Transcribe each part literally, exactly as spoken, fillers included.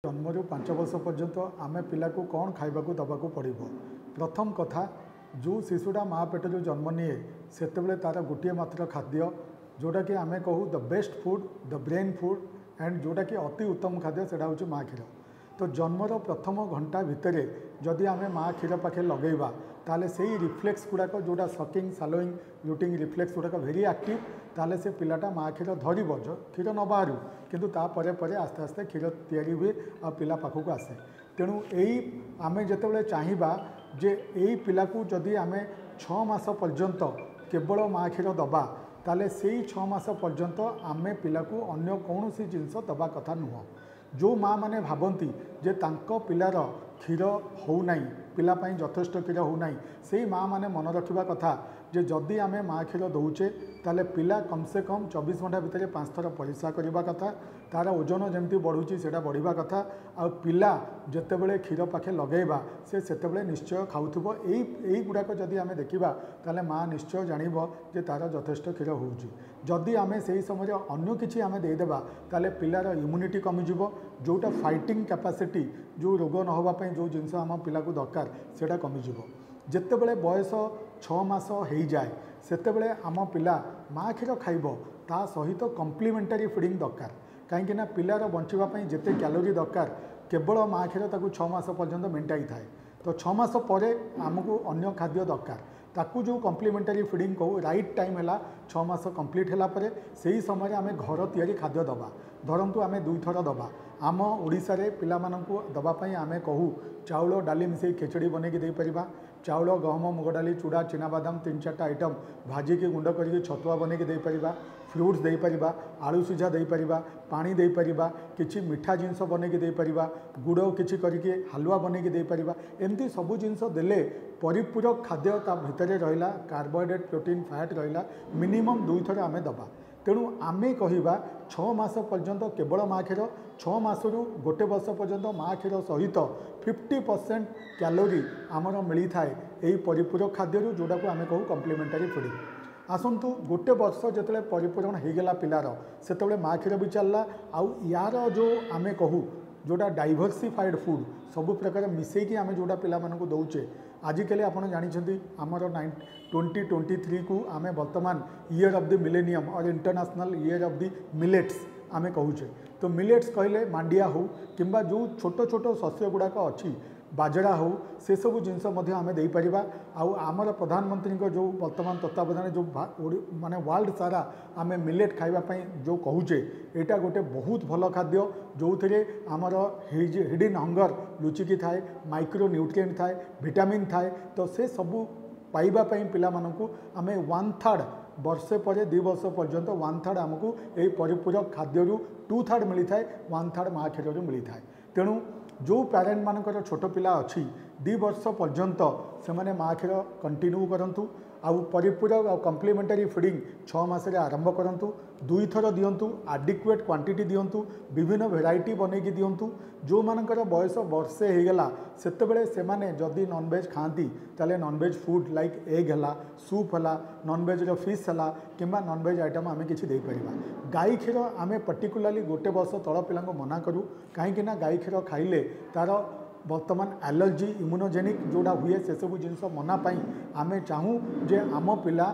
ଜନ୍ମରୁ ପାଞ୍ଚ ବର୍ଷ ପର୍ଯ୍ୟନ୍ତ ଆମେ ପିଲାକୁ କ'ଣ ଖାଇବାକୁ ଦେବାକୁ ପଡ଼ିବ ପ୍ରଥମ କଥା ଯେଉଁ ଶିଶୁଟା ମା ପେଟରୁ ଜନ୍ମ ନିଏ ସେତେବେଳେ ତା'ର ଗୋଟିଏ ମାତ୍ର ଖାଦ୍ୟ ଯେଉଁଟାକି ଆମେ କହୁ the best food the brain food and ଯେଉଁଟାକି ଅତି ଉତ୍ତମ ଖାଦ୍ୟ ସେଇଟା ହେଉଛି ମା କ୍ଷୀର ତ ଜନ୍ମର ପ୍ରଥମ ଘଣ୍ଟା ଭିତରେ ଯଦି ଆମେ ମା କ୍ଷୀର ପାଖେ ଲଗେଇବା ତାହେଲେ ସେଇ ରିଫ୍ଲେକ୍ସ ଗୁଡ଼ାକ ଯେଉଁଟା ସକିଂ ସ୍ୱାଲୋଇଂ ରୁଟିଂ ରିଫ୍ଲେକ୍ସ ଗୁଡ଼ାକ ଭେରି ଆକ୍ଟିଭ୍ ତାହେଲେ ସେ ପିଲାଟା ମା କ୍ଷୀର ଧରିବ କ୍ଷୀର ନ ବାହାରୁ କିନ୍ତୁ ତାପରେ ପରେ ଆସ୍ତେ ଆସ୍ତେ କ୍ଷୀର ତିଆରି ହୁଏ ଆଉ ପିଲା ପାଖକୁ ଆସେ ତେଣୁ ଏଇ ଆମେ ଯେତେବେଳେ ଚାହିଁବା ଯେ ଏଇ ପିଲାକୁ ଯଦି ଆମେ ଛଅ ମାସ ପର୍ଯ୍ୟନ୍ତ କେବଳ ମା କ୍ଷୀର ଦେବା ତାହେଲେ ସେଇ ଛଅ ମାସ ପର୍ଯ୍ୟନ୍ତ ଆମେ ପିଲାକୁ ଅନ୍ୟ କୌଣସି ଜିନିଷ ଦେବା କଥା ନୁହଁ ଯେଉଁ ମାଆ ମାନେ ଭାବନ୍ତି ଯେ ତାଙ୍କ ପିଲାର କ୍ଷୀର ହେଉନାହିଁ ପିଲା ପାଇଁ ଯଥେଷ୍ଟ କ୍ଷୀର ହେଉନାହିଁ ସେଇ ମାଆ ମାନେ ମନେ ରଖିବା କଥା ଯେ ଯଦି ଆମେ ମା କ୍ଷୀର ଦେଉଛେ ତାହେଲେ ପିଲା କମ୍ ସେ କମ୍ ଚବିଶ ଘଣ୍ଟା ଭିତରେ ପାଞ୍ଚ ଥର ପରିସ୍ରା କରିବା କଥା ତା'ର ଓଜନ ଯେମିତି ବଢ଼ୁଛି ସେଇଟା ବଢ଼ିବା କଥା ଆଉ ପିଲା ଯେତେବେଳେ କ୍ଷୀର ପାଖେ ଲଗେଇବା ସେ ସେତେବେଳେ ନିଶ୍ଚୟ ଖାଉଥିବ ଏଇ ଏଇଗୁଡ଼ାକ ଯଦି ଆମେ ଦେଖିବା ତାହେଲେ ମା ନିଶ୍ଚୟ ଜାଣିବ ଯେ ତା'ର ଯଥେଷ୍ଟ କ୍ଷୀର ହେଉଛି ଯଦି ଆମେ ସେଇ ସମୟରେ ଅନ୍ୟ କିଛି ଆମେ ଦେଇଦେବା ତାହେଲେ ପିଲାର ଇମ୍ୟୁନିଟି କମିଯିବ ଯେଉଁଟା ଫାଇଟିଂ କାପାସିଟି ଯେଉଁ ରୋଗ ନ ହେବା ପାଇଁ ଯେଉଁ ଜିନିଷ ଆମ ପିଲାକୁ ଦରକାର ସେଇଟା କମିଯିବ ଯେତେବେଳେ ବୟସ ଛଅ ମାସ ହେଇଯାଏ ସେତେବେଳେ ଆମ ପିଲା ମା କ୍ଷୀର ଖାଇବ ତା ସହିତ କମ୍ପ୍ଲିମେଣ୍ଟାରୀ ଫିଡ଼ିଂ ଦରକାର କାହିଁକିନା ପିଲାର ବଞ୍ଚିବା ପାଇଁ ଯେତେ କ୍ୟାଲୋରି ଦରକାର କେବଳ ମା କ୍ଷୀର ତାକୁ ଛଅ ମାସ ପର୍ଯ୍ୟନ୍ତ ମେଣ୍ଟାଇଥାଏ ତ ଛଅ ମାସ ପରେ ଆମକୁ ଅନ୍ୟ ଖାଦ୍ୟ ଦରକାର ତାକୁ ଯେଉଁ କମ୍ପ୍ଲିମେଣ୍ଟାରୀ ଫିଡ଼ିଂ କହୁ ରାଇଟ୍ ଟାଇମ୍ ହେଲା ଛଅ ମାସ କମ୍ପ୍ଲିଟ୍ ହେଲା ପରେ ସେହି ସମୟରେ ଆମେ ଘର ତିଆରି ଖାଦ୍ୟ ଦେବା ଧରନ୍ତୁ ଆମେ ଦୁଇଥର ଦେବା ଆମ ଓଡ଼ିଶାରେ ପିଲାମାନଙ୍କୁ ଦେବା ପାଇଁ ଆମେ କହୁ ଚାଉଳ ଡାଲି ମିଶାଇ ଖେଚେଡ଼ି ବନେଇକି ଦେଇପାରିବା ଚାଉଳ ଗହମ ମୁଗ ଡାଲି ଚୁଡ଼ା ଚିନାବାଦାମ ତିନି ଚାରିଟା ଆଇଟମ୍ ଭାଜିକି ଗୁଣ୍ଡ କରିକି ଛତୁଆ ବନେଇକି ଦେଇପାରିବା ଫ୍ରୁଟ୍ସ ଦେଇପାରିବା ଆଳୁ ସିଝା ଦେଇପାରିବା ପାଣି ଦେଇପାରିବା କିଛି ମିଠା ଜିନିଷ ବନେଇକି ଦେଇପାରିବା ଗୁଡ଼ କିଛି କରିକି ହାଲୁଆ ବନେଇକି ଦେଇପାରିବା ଏମିତି ସବୁ ଜିନିଷ ଦେଲେ ପରିପୂରକ ଖାଦ୍ୟ ତା ଭିତରେ ରହିଲା କାର୍ବୋହାଇଡ୍ରେଟ୍ ପ୍ରୋଟିନ୍ ଫ୍ୟାଟ୍ ରହିଲା ମିନିମମ୍ ଦୁଇଥର ଆମେ ଦେବା ତେଣୁ ଆମେ କହିବା ଛଅ ମାସ ପର୍ଯ୍ୟନ୍ତ କେବଳ ମା କ୍ଷୀର ଛଅ ମାସରୁ ଗୋଟେ ବର୍ଷ ପର୍ଯ୍ୟନ୍ତ ମା କ୍ଷୀର ସହିତ ଫିଫ୍ଟି ପରସେଣ୍ଟ କ୍ୟାଲୋରି ଆମର ମିଳିଥାଏ ଏହି ପରିପୂରକ ଖାଦ୍ୟରୁ ଯେଉଁଟାକୁ ଆମେ କହୁ କମ୍ପ୍ଲିମେଣ୍ଟାରୀ ଫିଡ଼ିଂ ଆସନ୍ତୁ ଗୋଟେ ବର୍ଷ ଯେତେବେଳେ ପରିପୂରଣ ହେଇଗଲା ପିଲାର ସେତେବେଳେ ମା କ୍ଷୀର ବି ଚାଲିଲା ଆଉ ୟାର ଯେଉଁ ଆମେ କହୁ ଯେଉଁଟା ଡାଇଭର୍ସିଫାଏଡ଼୍ ଫୁଡ଼୍ ସବୁ ପ୍ରକାର ମିଶାଇକି ଆମେ ଯେଉଁଟା ପିଲାମାନଙ୍କୁ ଦେଉଛେ ଆଜିକାଲି ଆପଣ ଜାଣିଛନ୍ତି ଆମର ନାଇନ୍ ଟ୍ୱେଣ୍ଟି ଟ୍ୱେଣ୍ଟି ଥ୍ରୀକୁ ଆମେ ବର୍ତ୍ତମାନ year of the millennium or international year of the millets ଆମେ କହୁଛେ ତ ମିଲେଟ୍ସ କହିଲେ ମାଣ୍ଡିଆ ହେଉ କିମ୍ବା ଯେଉଁ ଛୋଟ ଛୋଟ ଶସ୍ୟ ଗୁଡ଼ାକ ଅଛି ବାଜରା ହେଉ ସେସବୁ ଜିନିଷ ମଧ୍ୟ ଆମେ ଦେଇପାରିବା ଆଉ ଆମର ପ୍ରଧାନମନ୍ତ୍ରୀଙ୍କ ଯେଉଁ ବର୍ତ୍ତମାନ ତତ୍ତ୍ୱାବଧାନରେ ଯେଉଁ ମାନେ ୱାର୍ଲଡ଼ ସାରା ଆମେ ମିଲେଟ୍ ଖାଇବା ପାଇଁ ଯେଉଁ କହୁଛେ ଏଇଟା ଗୋଟେ ବହୁତ ଭଲ ଖାଦ୍ୟ ଯେଉଁଥିରେ ଆମର ହିଡ଼ିନ୍ ହଙ୍ଗର ଲୁଚିକି ଥାଏ ମାଇକ୍ରୋ ନ୍ୟୁଟ୍ରିଏଣ୍ଟ ଥାଏ ଭିଟାମିନ୍ ଥାଏ ତ ସେ ସବୁ ପାଇବା ପାଇଁ ପିଲାମାନଙ୍କୁ ଆମେ ୱାନ୍ ଥାର୍ଡ଼ ବର୍ଷେ ପରେ ଦୁଇ ବର୍ଷ ପର୍ଯ୍ୟନ୍ତ ୱାନ୍ ଥାର୍ଡ଼ ଆମକୁ ଏଇ ପରିପୂରକ ଖାଦ୍ୟରୁ ଟୁ ଥାର୍ଡ଼ ମିଳିଥାଏ ୱାନ୍ ଥାର୍ଡ଼ ମା କ୍ଷୀରରୁ ମିଳିଥାଏ ତେଣୁ ଯେଉଁ ପ୍ୟାରେଣ୍ଟମାନଙ୍କର ଛୋଟ ପିଲା ଅଛି ଦୁଇ ବର୍ଷ ପର୍ଯ୍ୟନ୍ତ ସେମାନେ ମା କ୍ଷୀର କଣ୍ଟିନ୍ୟୁ କରନ୍ତୁ ଆଉ ପରିପୂରକ ଆଉ କମ୍ପ୍ଲିମେଣ୍ଟାରୀ ଫିଡ଼ିଂ ଛଅ ମାସରେ ଆରମ୍ଭ କରନ୍ତୁ ଦୁଇଥର ଦିଅନ୍ତୁ ଆଡିକୁଏଟ୍ କ୍ୱାଣ୍ଟିଟି ଦିଅନ୍ତୁ ବିଭିନ୍ନ ଭେରାଇଟି ବନେଇକି ଦିଅନ୍ତୁ ଯେଉଁମାନଙ୍କର ବୟସ ବର୍ଷେ ହେଇଗଲା ସେତେବେଳେ ସେମାନେ ଯଦି ନନଭେଜ୍ ଖାଆନ୍ତି ତାହେଲେ non veg food like egg ହେଲା ସୁପ୍ ହେଲା ନନଭେଜ୍ର ଫିସ୍ ହେଲା କିମ୍ବା ନନଭେଜ୍ ଆଇଟମ୍ ଆମେ କିଛି ଦେଇପାରିବା ଗାଈ କ୍ଷୀର ଆମେ ପର୍ଟିକୁଲାରଲି ଗୋଟେ ବର୍ଷ ତଳ ପିଲାଙ୍କୁ ମନା କରୁ କାହିଁକିନା ଗାଈ କ୍ଷୀର ଖାଇଲେ ତା'ର ବର୍ତ୍ତମାନ ଆଲର୍ଜି ଇମ୍ୟୁନୋଜେନିକ୍ ଯେଉଁଟା ହୁଏ ସେସବୁ ଜିନିଷ ମନା ପାଇଁ ଆମେ ଚାହୁଁ ଯେ ଆମ ପିଲା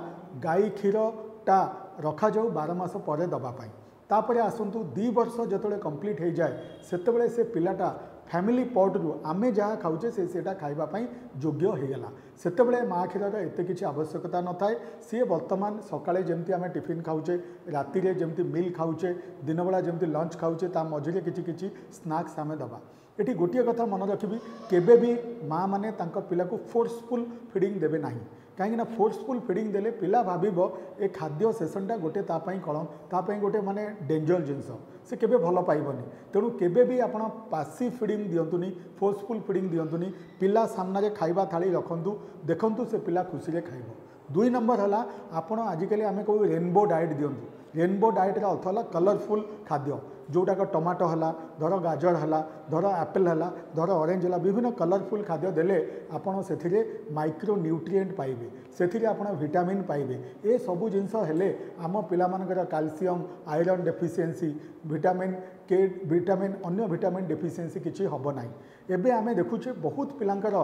ଗାଈ କ୍ଷୀରଟା ରଖାଯାଉ ବାର ମାସ ପରେ ଦେବା ପାଇଁ ତାପରେ ଆସନ୍ତୁ ଦୁଇ ବର୍ଷ ଯେତେବେଳେ କମ୍ପ୍ଲିଟ୍ ହେଇଯାଏ ସେତେବେଳେ ସେ ପିଲାଟା ଫ୍ୟାମିଲି ପଟ୍ରୁ ଆମେ ଯାହା ଖାଉଛେ ସେ ସେଇଟା ଖାଇବା ପାଇଁ ଯୋଗ୍ୟ ହେଇଗଲା ସେତେବେଳେ ମା କ୍ଷୀରର ଏତେ କିଛି ଆବଶ୍ୟକତା ନଥାଏ ସିଏ ବର୍ତ୍ତମାନ ସକାଳେ ଯେମିତି ଆମେ ଟିଫିନ୍ ଖାଉଛେ ରାତିରେ ଯେମିତି ମିଲ୍ ଖାଉଛେ ଦିନବେଳା ଯେମିତି ଲଞ୍ଚ ଖାଉଛେ ତା ମଝିରେ କିଛି କିଛି ସ୍ନାକ୍ସ ଆମେ ଦେବା ଏଠି ଗୋଟିଏ କଥା ମନେ ରଖିବି କେବେ ବି ମାଆ ମାନେ ତାଙ୍କ ପିଲାକୁ ଫୋର୍ସଫୁଲ୍ ଫିଡ଼ିଂ ଦେବେ ନାହିଁ କାହିଁକିନା ଫୋର୍ସଫୁଲ୍ ଫିଡ଼ିଂ ଦେଲେ ପିଲା ଭାବିବ ଏ ଖାଦ୍ୟ ସେସନ୍ଟା ଗୋଟେ ତା ପାଇଁ କଳ ତା ପାଇଁ ଗୋଟେ ମାନେ ଡେଞ୍ଜର ଜିନିଷ ସେ କେବେ ଭଲ ପାଇବନି ତେଣୁ କେବେ ବି ଆପଣ ପାସିଭ୍ ଫିଡ଼ିଂ ଦିଅନ୍ତୁନି ଫୋର୍ସଫୁଲ୍ ଫିଡ଼ିଂ ଦିଅନ୍ତୁନି ପିଲା ସାମ୍ନାରେ ଖାଇବା ଥାଳି ରଖନ୍ତୁ ଦେଖନ୍ତୁ ସେ ପିଲା ଖୁସିରେ ଖାଇବ ଦୁଇ ନମ୍ବର ହେଲା ଆପଣ ଆଜିକାଲି ଆମେ କହୁ ରେନବୋ ଡାଏଟ୍ ଦିଅନ୍ତୁ ରେନବୋ ଡାଏଟ୍ର ଅର୍ଥ ହେଲା କଲରଫୁଲ୍ ଖାଦ୍ୟ ଯେଉଁଟାକ ଟମାଟୋ ହେଲା, ଧର ଗାଜର ହେଲା, ଧର ଆପେଲ୍ ହେଲା, ଧର ଅରେଞ୍ଜ ହେଲା, ବିଭିନ୍ନ କଲରଫୁଲ୍ ଖାଦ୍ୟ ଦେଲେ ଆପଣ ସେଥିରେ ମାଇକ୍ରୋ ନ୍ୟୁଟ୍ରିଏଣ୍ଟ ପାଇବେ, ସେଥିରେ ଆପଣ ଭିଟାମିନ୍ ପାଇବେ। ଏସବୁ ଜିନିଷ ହେଲେ ଆମ ପିଲାମାନଙ୍କର calcium, iron deficiency, vitamin K, vitamin ଅନ୍ୟ ଭିଟାମିନ୍ ଡେଫିସିଏନ୍ସି କିଛି ହେବ ନାହିଁ। ଏବେ ଆମେ ଦେଖୁଛେ ବହୁତ ପିଲାଙ୍କର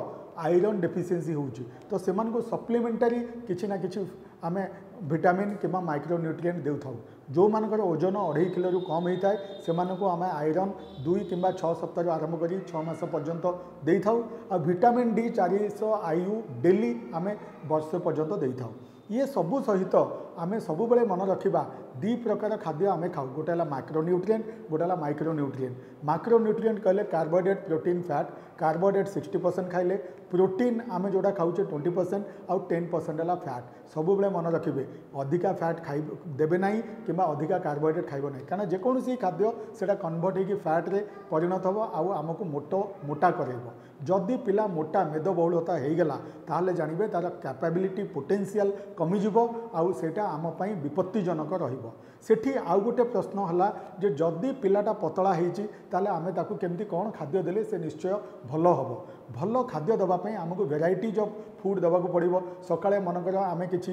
ଆଇରନ୍ ଡେଫିସିଏନ୍ସି ହେଉଛି, ତ ସେମାନଙ୍କୁ ସପ୍ଲିମେଣ୍ଟାରୀ କିଛି ନା କିଛି ଆମେ ଭିଟାମିନ୍ କିମ୍ବା ମାଇକ୍ରୋ ନ୍ୟୁଟ୍ରିଏଣ୍ଟ ଦେଉଥାଉ। ଯେଉଁମାନଙ୍କର ଓଜନ ଅଢ଼େଇ କିଲୋରୁ କମ୍ ହେଇଥାଏ, ସେମାନଙ୍କୁ ଆମେ ଆଇରନ୍ ଦୁଇ କିମ୍ବା ଛଅ ସପ୍ତାହରୁ ଆରମ୍ଭ କରି ଛଅ ମାସ ପର୍ଯ୍ୟନ୍ତ ଦେଇଥାଉ। ଆଉ ଭିଟାମିନ୍ ଡି ଚାରିଶହ I U daily ଆମେ ବର୍ଷେ ପର୍ଯ୍ୟନ୍ତ ଦେଇଥାଉ। ଇଏ ସବୁ ସହିତ ଆମେ ସବୁବେଳେ ମନେ ରଖିବା, ଦୁଇ ପ୍ରକାର ଖାଦ୍ୟ ଆମେ ଖାଉ। ଗୋଟେ ହେଲା ମାକ୍ରୋ ନ୍ୟୁଟ୍ରିଏଣ୍ଟ, ଗୋଟେ ହେଲା ମାଇକ୍ରୋ ନ୍ୟୁଟ୍ରିଏଣ୍ଟ। ମାକ୍ରୋ ନ୍ୟୁଟ୍ରିଏଣ୍ଟ କହିଲେ carbohydrate, protein, fat. Carbohydrate sixty percent ଖାଇଲେ, ପ୍ରୋଟିନ୍ ଆମେ ଯେଉଁଟା ଖାଉଛେ ଟ୍ୱେଣ୍ଟି ପରସେଣ୍ଟ, ଆଉ ଟେନ୍ ପରସେଣ୍ଟ ହେଲା ଫ୍ୟାଟ୍। ସବୁବେଳେ ମନେ ରଖିବେ, ଅଧିକା ଫ୍ୟାଟ୍ ଖାଇ ଦେବେ ନାହିଁ କିମ୍ବା ଅଧିକା କାର୍ବୋହାଇଡ୍ରେଟ୍ ଖାଇବ ନାହିଁ, କାରଣ ଯେକୌଣସି ଖାଦ୍ୟ ସେଇଟା କନଭର୍ଟ ହେଇକି ଫ୍ୟାଟ୍ରେ ପରିଣତ ହେବ ଆଉ ଆମକୁ ମୋଟ ମୋଟା କରାଇବ। ଯଦି ପିଲା ମୋଟା ମେଦବହୁଳତା ହେଇଗଲା, ତାହେଲେ ଜାଣିବେ ତା'ର କ୍ୟାପାବିଲିଟି, ପୋଟେନ୍ସିଆଲ୍ କମିଯିବ ଆଉ ସେଇଟା ଆମ ପାଇଁ ବିପତ୍ତିଜନକ ରହିବ। ସେଠି ଆଉ ଗୋଟେ ପ୍ରଶ୍ନ ହେଲା ଯେ ଯଦି ପିଲାଟା ପତଳା ହେଇଛି, ତାହେଲେ ଆମେ ତାକୁ କେମିତି କ'ଣ ଖାଦ୍ୟ ଦେଲେ ସେ ନିଶ୍ଚୟ ଭଲ ହେବ? ଭଲ ଖାଦ୍ୟ ଦେବା ପାଇଁ ଆମକୁ ଭେରାଇଟିଜ୍ ଅଫ୍ ଫୁଡ଼୍ ଦେବାକୁ ପଡ଼ିବ। ସକାଳେ ମନେକର ଆମେ କିଛି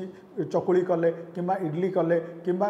ଚକୁଳି କଲେ କିମ୍ବା ଇଡ଼ଲି କଲେ କିମ୍ବା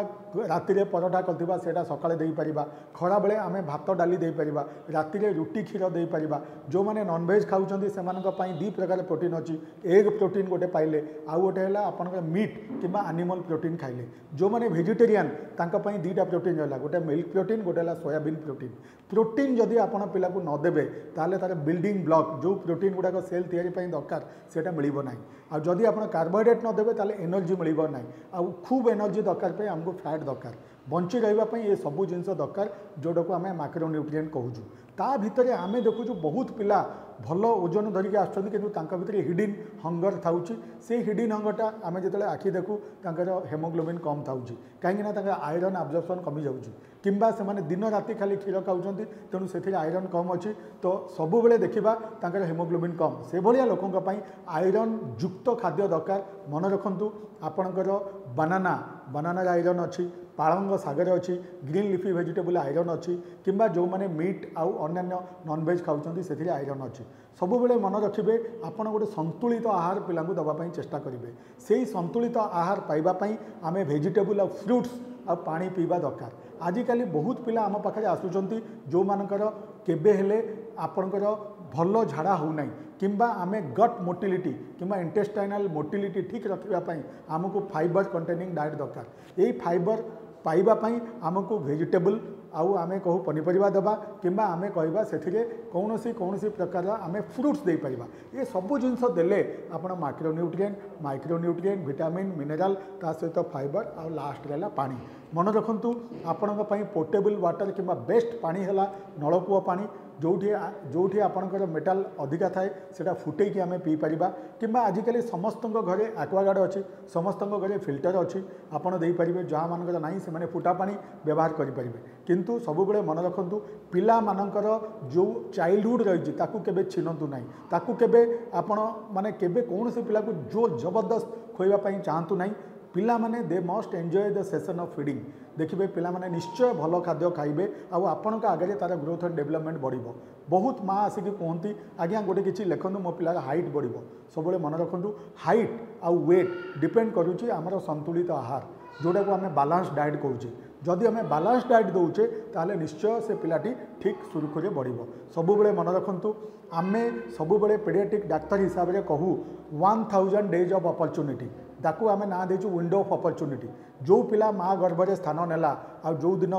ରାତିରେ ପରଟା କରିଥିବା, ସେଇଟା ସକାଳେ ଦେଇପାରିବା। ଖରାବେଳେ ଆମେ ଭାତ ଡାଲି ଦେଇପାରିବା, ରାତିରେ ରୁଟି କ୍ଷୀର ଦେଇପାରିବା। ଯେଉଁମାନେ ନନଭେଜ୍ ଖାଉଛନ୍ତି, ସେମାନଙ୍କ ପାଇଁ ଦୁଇ ପ୍ରକାର ପ୍ରୋଟିନ୍ ଅଛି। ଏଗ୍ ପ୍ରୋଟିନ୍ ଗୋଟେ ପାଇଲେ, ଆଉ ଗୋଟେ ହେଲା ଆପଣଙ୍କର ମିଟ୍ କିମ୍ବା ଆନିମଲ୍ ପ୍ରୋଟିନ୍ ଖାଇଲେ। ଯେଉଁମାନେ ଭେଜିଟେରିଆନ୍, ତାଙ୍କ ପାଇଁ ଦୁଇଟା ପ୍ରୋଟିନ୍ ରହିଲା, ଗୋଟେ ମିଲ୍କ ପ୍ରୋଟିନ୍, ଗୋଟେ ହେଲା ସୋୟାବିନ୍ ପ୍ରୋଟିନ୍। ପ୍ରୋଟିନ୍ ଯଦି ଆପଣ ପିଲାକୁ ନ ଦେବେ, ତାହେଲେ ତା'ର ବିଲ୍ଡିଂ ବ୍ଲକ୍, ଯେଉଁ ପ୍ରୋଟିନ୍ ଗୁଡ଼ାକ ସେଲ୍ ତିଆରି ପାଇଁ ଦରକାର, ସେଇଟା ମିଳିବ ନାହିଁ। ଆଉ ଯଦି ଆପଣ କାର୍ବୋହାଇଡ୍ରେଟ୍ ନ ଦେବେ, ତାହେଲେ ଏନର୍ଜି ମିଳିବ ନାହିଁ। ଆଉ ଖୁବ୍ ଏନର୍ଜି ଦରକାର ପାଇଁ ଆମକୁ ଫ୍ୟାଟ୍ ଦରକାର। ବଞ୍ଚି ରହିବା ପାଇଁ ଏ ସବୁ ଜିନିଷ ଦରକାର, ଯେଉଁଟାକୁ ଆମେ ମାକ୍ରୋ ନ୍ୟୁଟ୍ରିଏଣ୍ଟ କହୁଛୁ। ତା ଭିତରେ ଆମେ ଦେଖୁଛୁ ବହୁତ ପିଲା ଭଲ ଓଜନ ଧରିକି ଆସୁଛନ୍ତି, କିନ୍ତୁ ତାଙ୍କ ଭିତରେ ହିଡ଼ିନ୍ ହଙ୍ଗର ଥାଉଛି। ସେଇ ହିଡ଼ିନ୍ ହଙ୍ଗରଟା ଆମେ ଯେତେବେଳେ ଆଖି ଦେଖୁ, ତାଙ୍କର ହେମୋଗ୍ଲୋବିନ୍ କମ୍ ଥାଉଛି, କାହିଁକିନା ତାଙ୍କର ଆଇରନ୍ ଆବଜର୍ପସନ୍ କମିଯାଉଛି କିମ୍ବା ସେମାନେ ଦିନ ରାତି ଖାଲି କ୍ଷୀର ଖାଉଛନ୍ତି, ତେଣୁ ସେଥିରେ ଆଇରନ୍ କମ୍ ଅଛି। ତ ସବୁବେଳେ ଦେଖିବା ତାଙ୍କର ହେମୋଗ୍ଲୋବିନ୍ କମ୍। ସେଭଳିଆ ଲୋକଙ୍କ ପାଇଁ ଆଇରନ୍ ଯୁକ୍ତ ଖାଦ୍ୟ ଦରକାର। ମନେ ରଖନ୍ତୁ, ଆପଣଙ୍କର ବାନାନା, ବାନାନାରେ ଆଇରନ୍ ଅଛି, ପାଳଙ୍ଗ ଶାଗରେ ଅଛି, ଗ୍ରୀନ୍ ଲିଫି ଭେଜିଟେବୁଲ୍ ଆଇରନ୍ ଅଛି, କିମ୍ବା ଯେଉଁମାନେ ମିଟ୍ ଆଉ ଅନ୍ୟାନ୍ୟ ନନଭେଜ୍ ଖାଉଛନ୍ତି, ସେଥିରେ ଆଇରନ୍ ଅଛି। ସବୁବେଳେ ମନେ ରଖିବେ, ଆପଣ ଗୋଟେ ସନ୍ତୁଳିତ ଆହାର ପିଲାଙ୍କୁ ଦେବା ପାଇଁ ଚେଷ୍ଟା କରିବେ। ସେଇ ସନ୍ତୁଳିତ ଆହାର ପାଇବା ପାଇଁ ଆମେ ଭେଜିଟେବୁଲ୍ ଆଉ ଫ୍ରୁଟ୍ସ ଆଉ ପାଣି ପିଇବା ଦରକାର। ଆଜିକାଲି ବହୁତ ପିଲା ଆମ ପାଖରେ ଆସୁଛନ୍ତି ଯେଉଁମାନଙ୍କର କେବେ ହେଲେ ଆପଣଙ୍କର ଭଲ ଝାଡ଼ା ହେଉନାହିଁ, କିମ୍ବା ଆମେ ଗଟ୍ ମୋଟିଲିଟି କିମ୍ବା ଇଣ୍ଟେଷ୍ଟାଇନାଲ୍ ମୋଟିଲିଟି ଠିକ୍ ରଖିବା ପାଇଁ ଆମକୁ ଫାଇବର କଣ୍ଟେନିଂ ଡାଏଟ୍ ଦରକାର। ଏଇ ଫାଇବର ପାଇବା ପାଇଁ ଆମକୁ ଭେଜିଟେବୁଲ୍ ଆଉ ଆମେ କହୁ ପନିପରିବା ଦେବା, କିମ୍ବା ଆମେ କହିବା ସେଥିରେ କୌଣସି କୌଣସି ପ୍ରକାରର ଆମେ ଫ୍ରୁଟ୍ସ ଦେଇପାରିବା। ଏ ସବୁ ଜିନିଷ ଦେଲେ ଆପଣ ମାକ୍ରୋନ୍ୟୁଟ୍ରିଏଣ୍ଟ, ମାଇକ୍ରୋନ୍ୟୁଟ୍ରିଏଣ୍ଟ, ଭିଟାମିନ୍, ମିନେରାଲ୍, ତା ସହିତ ଫାଇବର ଆଉ ଲାଷ୍ଟରେ ହେଲା ପାଣି। ମନେ ରଖନ୍ତୁ, ଆପଣଙ୍କ ପାଇଁ ପୋଟେବଲ୍ ୱାଟର୍ କିମ୍ବା ବେଷ୍ଟ ପାଣି ହେଲା ନଳକୂଅ ପାଣି। ଯେଉଁଠି ଯେଉଁଠି ଆପଣଙ୍କର ମେଟାଲ ଅଧିକା ଥାଏ, ସେଇଟା ଫୁଟେଇକି ଆମେ ପିଇପାରିବା, କିମ୍ବା ଆଜିକାଲି ସମସ୍ତଙ୍କ ଘରେ ଆକ୍ୱାଗାର୍ଡ଼ ଅଛି, ସମସ୍ତଙ୍କ ଘରେ ଫିଲ୍ଟର ଅଛି, ଆପଣ ଦେଇପାରିବେ। ଯାହାମାନଙ୍କର ନାହିଁ, ସେମାନେ ଫୁଟା ପାଣି ବ୍ୟବହାର କରିପାରିବେ। କିନ୍ତୁ ସବୁବେଳେ ମନେ ରଖନ୍ତୁ, ପିଲାମାନଙ୍କର ଯେଉଁ ଚାଇଲ୍ଡହୁଡ଼ ରହିଛି, ତାକୁ କେବେ ଛିନନ୍ତୁ ନାହିଁ। ତାକୁ କେବେ ଆପଣ ମାନେ କେବେ କୌଣସି ପିଲାକୁ ଜୋର ଜବରଦସ୍ତ ଖୋଇବା ପାଇଁ ଚାହାନ୍ତୁ ନାହିଁ। ପିଲାମାନେ they must enjoy the session of feeding. ଦେଖିବେ, ପିଲାମାନେ ନିଶ୍ଚୟ ଭଲ ଖାଦ୍ୟ ଖାଇବେ ଆଉ ଆପଣଙ୍କ ଆଗରେ ତା'ର ଗ୍ରୋଥ୍ ଆଣ୍ଡ ଡେଭଲପମେଣ୍ଟ ବଢ଼ିବ। ବହୁତ ମା ଆସିକି କୁହନ୍ତି, ଆଜ୍ଞା ଗୋଟେ କିଛି ଲେଖନ୍ତୁ, ମୋ ପିଲାର ହାଇଟ୍ ବଢ଼ିବ। ସବୁବେଳେ ମନେ ରଖନ୍ତୁ, ହାଇଟ୍ ଆଉ ୱେଟ୍ ଡିପେଣ୍ଡ କରୁଛି ଆମର ସନ୍ତୁଳିତ ଆହାର, ଯେଉଁଟାକୁ ଆମେ ବାଲାନ୍ସ ଡାଏଟ୍ କହୁଛେ। ଯଦି ଆମେ ବାଲାନ୍ସ ଡାଏଟ୍ ଦେଉଛେ, ତାହେଲେ ନିଶ୍ଚୟ ସେ ପିଲାଟି ଠିକ୍ ସୁରୁଖୁରୁରେ ବଢ଼ିବ। ସବୁବେଳେ ମନେ ରଖନ୍ତୁ, ଆମେ ସବୁବେଳେ ପେଡ଼ିଆଟ୍ରିକ୍ ଡାକ୍ତର ହିସାବରେ କହୁ one thousand days of opportunity। ତାକୁ ଆମେ ନାଁ ଦେଇଛୁ ୱିଣ୍ଡୋ ଅଫ୍ ଅପରଚ୍ୟୁନିଟି। ଯେଉଁ ପିଲା ମା ଗର୍ଭରେ ସ୍ଥାନ ନେଲା ଆଉ ଯେଉଁ ଦିନ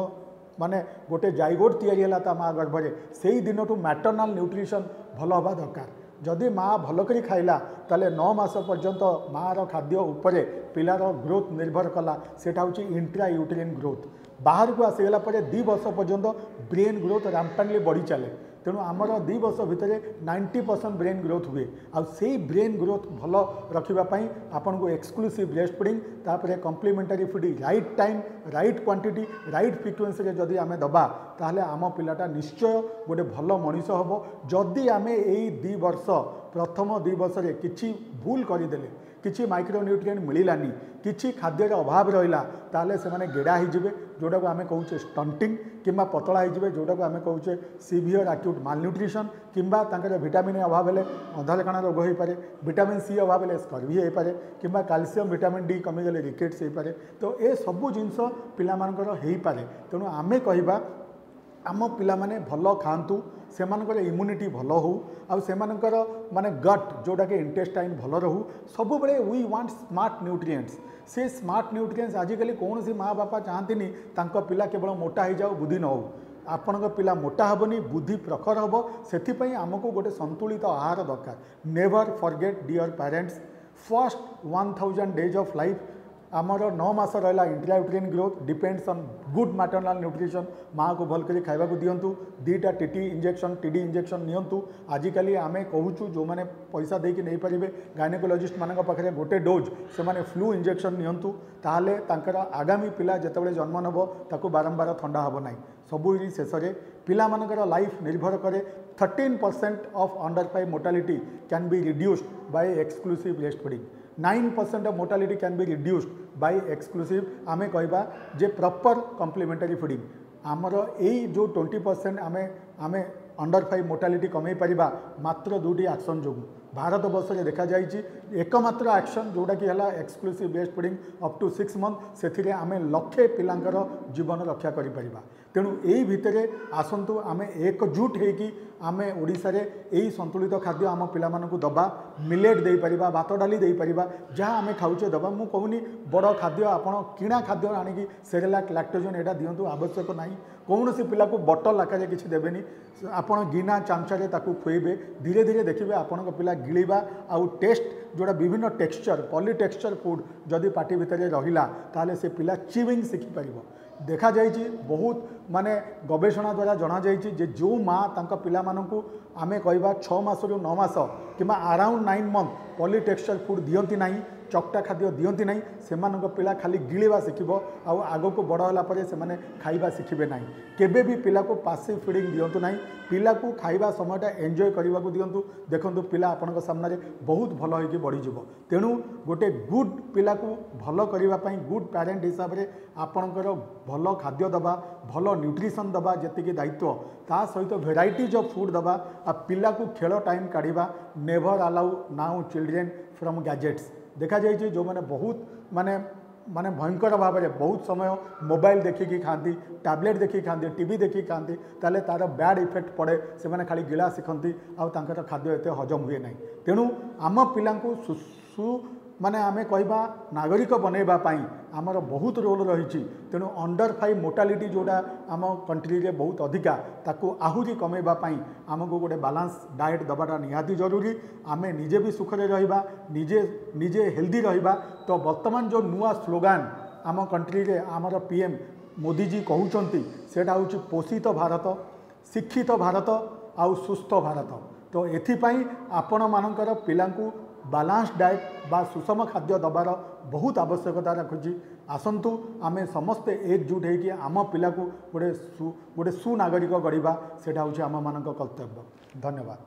ମାନେ ଗୋଟେ ଜାଇଗୋଟ୍ ତିଆରି ହେଲା ତା ମା ଗର୍ଭରେ, ସେଇ ଦିନଠୁ ମ୍ୟାଟର୍ନାଲ୍ ନ୍ୟୁଟ୍ରିସନ୍ ଭଲ ହେବା ଦରକାର। ଯଦି ମା ଭଲ କରି ଖାଇଲା, ତାହେଲେ ନଅ ମାସ ପର୍ଯ୍ୟନ୍ତ ମାଆର ଖାଦ୍ୟ ଉପରେ ପିଲାର ଗ୍ରୋଥ୍ ନିର୍ଭର କଲା। ସେଇଟା ହେଉଛି ଇଣ୍ଟ୍ରା ୟୁଟେରିନ୍ ଗ୍ରୋଥ୍। ବାହାରକୁ ଆସିଗଲା ପରେ ଦୁଇ ବର୍ଷ ପର୍ଯ୍ୟନ୍ତ ବ୍ରେନ୍ ଗ୍ରୋଥ୍ ରାମ୍ପାଣ୍ଟଲି ବଢ଼ି ଚାଲେ। ତେଣୁ ଆମର ଦୁଇ ବର୍ଷ ଭିତରେ ନାଇଣ୍ଟି ପରସେଣ୍ଟ ବ୍ରେନ୍ ଗ୍ରୋଥ୍ ହୁଏ। ଆଉ ସେଇ ବ୍ରେନ୍ ଗ୍ରୋଥ୍ ଭଲ ରଖିବା ପାଇଁ ଆପଣଙ୍କୁ ଏକ୍ସକ୍ଲୁସିଭ୍ ବ୍ରେଷ୍ଟ ଫିଡ଼ିଂ, ତାପରେ complementary feeding, right time, right quantity, right ଫ୍ରିକ୍ୱେନ୍ସିରେ ଯଦି ଆମେ ଦେବା, ତାହେଲେ ଆମ ପିଲାଟା ନିଶ୍ଚୟ ଗୋଟେ ଭଲ ମଣିଷ ହେବ। ଯଦି ଆମେ ଏଇ ଦୁଇ ବର୍ଷ, ପ୍ରଥମ ଦୁଇ ବର୍ଷରେ କିଛି ଭୁଲ କରିଦେଲେ କିଛି ମାଇକ୍ରୋ ନ୍ୟୁଟ୍ରିଏଣ୍ଟ ମିଳିଲାନି କିଛି ଖାଦ୍ୟର ଅଭାବ ରହିଲା ତାହେଲେ ସେମାନେ ଗେଡ଼ା ହେଇଯିବେ ଯେଉଁଟାକୁ ଆମେ କହୁଛେ ଷ୍ଟଣ୍ଟିଂ କିମ୍ବା ପତଳା ହେଇଯିବେ ଯେଉଁଟାକୁ ଆମେ କହୁଛେ ସିଭିୟର ଆକ୍ୟୁଟ୍ ମାଲନ୍ୟୁଟ୍ରିସନ୍ କିମ୍ବା ତାଙ୍କର ଭିଟାମିନ୍ ଅଭାବ ହେଲେ ଅନ୍ଧାରକଣା ରୋଗ ହୋଇପାରେ ଭିଟାମିନ୍ ସି ଅଭାବ ହେଲେ ସ୍କର୍ଭି ହେଇପାରେ କିମ୍ବା କାଲସିୟମ୍ ଭିଟାମିନ୍ ଡି କମିଗଲେ ରିକେଟ୍ସ ହେଇପାରେ ତ ଏସବୁ ଜିନିଷ ପିଲାମାନଙ୍କର ହେଇପାରେ ତେଣୁ ଆମେ କହିବା ଆମ ପିଲାମାନେ ଭଲ ଖାଆନ୍ତୁ ସେମାନଙ୍କର ଇମ୍ୟୁନିଟି ଭଲ ହେଉ ଆଉ ସେମାନଙ୍କର ମାନେ ଗଟ୍ ଯେଉଁଟାକି ଇଣ୍ଟେଷ୍ଟାଇନ୍ ଭଲ ରହୁ ସବୁବେଳେ we want smart nutrients ସେ ସ୍ମାର୍ଟ ନ୍ୟୁଟ୍ରିଏଣ୍ଟସ୍ ଆଜିକାଲି କୌଣସି ମା ବାପା ଚାହାନ୍ତିନି ତାଙ୍କ ପିଲା କେବଳ ମୋଟା ହେଇଯାଉ ବୁଦ୍ଧି ନ ହେଉ ଆପଣଙ୍କ ପିଲା ମୋଟା ହେବନି ବୁଦ୍ଧି ପ୍ରଖର ହେବ ସେଥିପାଇଁ ଆମକୁ ଗୋଟେ ସନ୍ତୁଳିତ ଆହାର ଦରକାର Never forget dear parents first one thousand days of life ଆମର ନଅ ମାସ ରହିଲା intrauterine growth depends on good maternal nutrition ମାଆକୁ ଭଲ କରି ଖାଇବାକୁ ଦିଅନ୍ତୁ ଦୁଇଟା T T injection T D injection ନିଅନ୍ତୁ ଆଜିକାଲି ଆମେ କହୁଛୁ ଯେଉଁମାନେ ପଇସା ଦେଇକି ନେଇପାରିବେ ଗାଇନୋକୋଲୋଜିଷ୍ଟମାନଙ୍କ ପାଖରେ ଗୋଟେ ଡୋଜ୍ ସେମାନେ ଫ୍ଲୁ ଇଞ୍ଜେକ୍ସନ୍ ନିଅନ୍ତୁ ତାହେଲେ ତାଙ୍କର ଆଗାମୀ ପିଲା ଯେତେବେଳେ ଜନ୍ମ ନେବ ତାକୁ ବାରମ୍ବାର ଥଣ୍ଡା ହେବ ନାହିଁ ସବୁ ଶେଷରେ ପିଲାମାନଙ୍କର ଲାଇଫ୍ ନିର୍ଭର କରେ thirteen percent of under five mortality can be reduced by exclusive breast feeding nine percent of mortality can be reduced by exclusive ଆମେ କହିବା ଯେ ପ୍ରପର୍ କମ୍ପ୍ଲିମେଣ୍ଟାରୀ ଫିଡ଼ିଂ ଆମର ଏଇ ଯେଉଁ ଟ୍ୱେଣ୍ଟି ପରସେଣ୍ଟ ଆମେ ଆମେ ଅଣ୍ଡର ଫାଇଭ୍ ମୋର୍ଟାଲିଟି କମେଇ ପାରିବା ମାତ୍ର ଦୁଇଟି ଆକ୍ସନ୍ ଯୋଗୁଁ ଭାରତବର୍ଷରେ ଦେଖାଯାଇଛି ଏକମାତ୍ର ଆକ୍ସନ୍ ଯେଉଁଟାକି ହେଲା exclusive breast feeding up to six month ସେଥିରେ ଆମେ ଲକ୍ଷେ ପିଲାଙ୍କର ଜୀବନ ରକ୍ଷା କରିପାରିବା ତେଣୁ ଏଇ ଭିତରେ ଆସନ୍ତୁ ଆମେ ଏକଜୁଟ ହେଇକି ଆମେ ଓଡ଼ିଶାରେ ଏଇ ସନ୍ତୁଳିତ ଖାଦ୍ୟ ଆମ ପିଲାମାନଙ୍କୁ ଦେବା ମିଲେଟ୍ ଦେଇପାରିବା ଭାତ ଡାଲି ଦେଇପାରିବା ଯାହା ଆମେ ଖାଉଛେ ଦେବା ମୁଁ କହୁନି ବଡ଼ ଖାଦ୍ୟ ଆପଣ କିଣା ଖାଦ୍ୟ ଆଣିକି ସେରେଲାକ୍ ଲାକ୍ଟୋଜନ୍ ଏଇଟା ଦିଅନ୍ତୁ ଆବଶ୍ୟକ ନାହିଁ କୌଣସି ପିଲାକୁ ବଟଲ ଆକାରରେ କିଛି ଦେବେନି ଆପଣ ଗିନା ଚାମଚାରେ ତାକୁ ଖୁଆଇବେ ଧୀରେ ଧୀରେ ଦେଖିବେ ଆପଣଙ୍କ ପିଲା ଗିଳିବା ଆଉ ଟେଷ୍ଟ ଯେଉଁଟା ବିଭିନ୍ନ ଟେକ୍ସଚର ପଲି ଟେକ୍ସଚର ଫୁଡ଼୍ ଯଦି ପାଟି ଭିତରେ ରହିଲା ତାହେଲେ ସେ ପିଲା ଚିୱିଂ ଶିଖିପାରିବ ଦେଖାଯାଇଛି ବହୁତ ମାନେ ଗବେଷଣା ଦ୍ୱାରା ଜଣାଯାଇଛି ଯେ ଯେଉଁ ମା ତାଙ୍କ ପିଲାମାନଙ୍କୁ ଆମେ କହିବା ଛଅ ମାସରୁ ନଅ ମାସ କିମ୍ବା around nine month poly texture food ଦିଅନ୍ତି ନାହିଁ ଚକଟା ଖାଦ୍ୟ ଦିଅନ୍ତି ନାହିଁ ସେମାନଙ୍କ ପିଲା ଖାଲି ଗିଳିବା ଶିଖିବ ଆଉ ଆଗକୁ ବଡ଼ ହେଲା ପରେ ସେମାନେ ଖାଇବା ଶିଖିବେ ନାହିଁ କେବେ ବି ପିଲାକୁ ପାସିଭ୍ ଫିଡ଼ିଂ ଦିଅନ୍ତୁ ନାହିଁ ପିଲାକୁ ଖାଇବା ସମୟଟା ଏନ୍ଜୟ କରିବାକୁ ଦିଅନ୍ତୁ ଦେଖନ୍ତୁ ପିଲା ଆପଣଙ୍କ ସାମ୍ନାରେ ବହୁତ ଭଲ ହେଇକି ବଢ଼ିଯିବ ତେଣୁ ଗୋଟେ ଗୁଡ୍ ପିଲାକୁ ଭଲ କରିବା ପାଇଁ ଗୁଡ୍ ପ୍ୟାରେଣ୍ଟ ହିସାବରେ ଆପଣଙ୍କର ଭଲ ଖାଦ୍ୟ ଦେବା ଭଲ ନ୍ୟୁଟ୍ରିସନ୍ ଦେବା ଯେତିକି ଦାୟିତ୍ୱ ତା ସହିତ ଭେରାଇଟିଜ୍ ଅଫ୍ ଫୁଡ଼୍ ଦେବା ଆଉ ପିଲାକୁ ଖେଳ ଟାଇମ୍ କାଢ଼ିବା Never allow now children from gadgets ଦେଖାଯାଇଛି ଯେଉଁମାନେ ବହୁତ ମାନେ ମାନେ ଭୟଙ୍କର ଭାବରେ ବହୁତ ସମୟ ମୋବାଇଲ ଦେଖିକି ଖାଆନ୍ତି ଟ୍ୟାବଲେଟ୍ ଦେଖିକି ଖାଆନ୍ତି ଟିଭି ଦେଖିକି ଖାଆନ୍ତି ତାହେଲେ ତା'ର ବ୍ୟାଡ଼୍ ଇଫେକ୍ଟ ପଡ଼େ ସେମାନେ ଖାଲି ଗିଳା ଶିଖନ୍ତି ଆଉ ତାଙ୍କର ଖାଦ୍ୟ ଏତେ ହଜମ ହୁଏ ନାହିଁ ତେଣୁ ଆମ ପିଲାଙ୍କୁ ସୁ ମାନେ ଆମେ କହିବା ନାଗରିକ ବନେଇବା ପାଇଁ ଆମର ବହୁତ ରୋଲ୍ ରହିଛି ତେଣୁ ଅଣ୍ଡର ଫାଇଭ୍ ମୋର୍ଟାଲିଟି ଯେଉଁଟା ଆମ କଣ୍ଟ୍ରିରେ ବହୁତ ଅଧିକା ତାକୁ ଆହୁରି କମେଇବା ପାଇଁ ଆମକୁ ଗୋଟେ ବାଲାନ୍ସ ଡାଏଟ୍ ଦେବାଟା ନିହାତି ଜରୁରୀ ଆମେ ନିଜେ ବି ସୁଖରେ ରହିବା ନିଜେ ନିଜେ ହେଲ୍ଦି ରହିବା ତ ବର୍ତ୍ତମାନ ଯେଉଁ ନୂଆ ସ୍ଲୋଗାନ ଆମ କଣ୍ଟ୍ରିରେ ଆମର ପି ଏମ୍ ମୋଦିଜୀ କହୁଛନ୍ତି ସେଇଟା ହେଉଛି ପୋଷିତ ଭାରତ ଶିକ୍ଷିତ ଭାରତ ଆଉ ସୁସ୍ଥ ଭାରତ ତ ଏଥିପାଇଁ ଆପଣମାନଙ୍କର ପିଲାଙ୍କୁ ବାଲାନ୍ସ ଡାଏଟ୍ ବା ସୁଷମ ଖାଦ୍ୟ ଦେବାର ବହୁତ ଆବଶ୍ୟକତା ରଖୁଛି ଆସନ୍ତୁ ଆମେ ସମସ୍ତେ ଏକଜୁଟ ହେଇକି ଆମ ପିଲାକୁ ଗୋଟେ ସୁ ଗୋଟେ ସୁନାଗରିକ ଗଢ଼ିବା ସେଇଟା ହେଉଛି ଆମମାନଙ୍କ କର୍ତ୍ତବ୍ୟ ଧନ୍ୟବାଦ